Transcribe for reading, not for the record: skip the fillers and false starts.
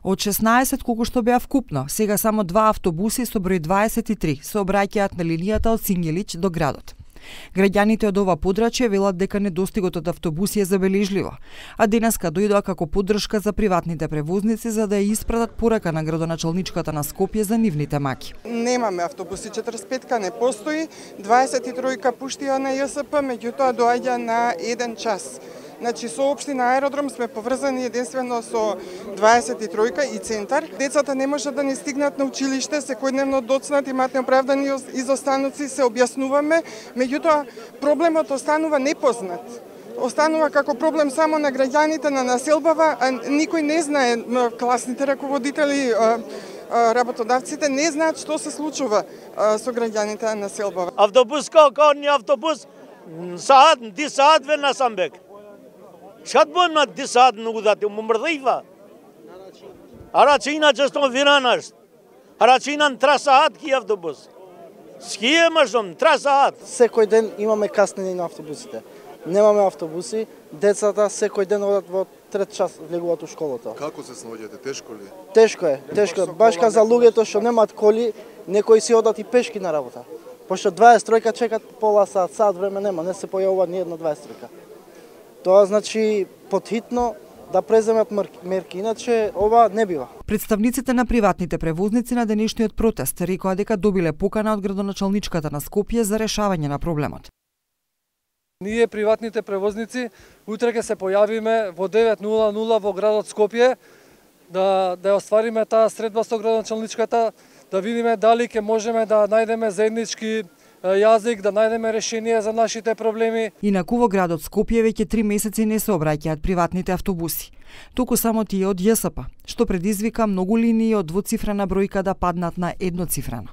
Од 16 колку што беа вкупно, сега само 2 автобуси со број 23 се обраќаат на линијата од Сињелич до градот. Граѓаните од ова подрачје велат дека недостигот од автобуси е забележливо, а денеска дојдоа како поддршка за приватните превозници за да ја испратат порака на градоначалничката на Скопје за нивните маки. Немаме автобуси, 45-ка не постои, 23-ка пуштија на ЈСП, меѓутоа доаѓа на 1 час. Значи, со општина Аеродром сме поврзани единствено со 23-ка и центар. Децата не можат да не стигнат на училиште, секојдневно доцнат, имаат неоправдани изостаноци, се објаснуваме, меѓутоа проблемот останува непознат. Останува како проблем само на граѓаните на населбава, а никој не знае, класните раководители, работодавците не знаат што се случува со граѓаните на населбава. Автобус како не автобус, ди саат ве на Самбек. Шат бо на 10 саат многу дати, му мрдива. Арачина често виранаш. Арачина 3 саат ки автобус. Ские машом 3 саат. Секој ден имаме каснење на автобусите. Немаме автобуси, децата секој ден одат во 3 час влегуваат у школата. Како се снаоѓате? Тешко ли? Тешко е. Баш за луѓето што немаат коли, некои си одат и пешки на работа. Пошто 23-ка чекат пола саат, саат време нема, не се појавува ни една 23-ка. Тоа значи потхитно да преземат мерки, иначе ова не бива. Представниците на приватните превозници на денешниот протест рекоа дека добиле покана од градоначалничката на Скопје за решавање на проблемот. Ние приватните превозници утре ќе се појавиме во 9:00 во градот Скопје да оствариме таа средба со градоначалничката, да видиме дали ќе можеме да најдеме заеднички јазик, да најдеме решение за нашите проблеми. Инаку во градот Скопје веќе 3 месеци не се обраќаат приватните автобуси, туку само тие од ЈСП, што предизвика многу линии од двоцифрена бројка да паднат на едноцифрена.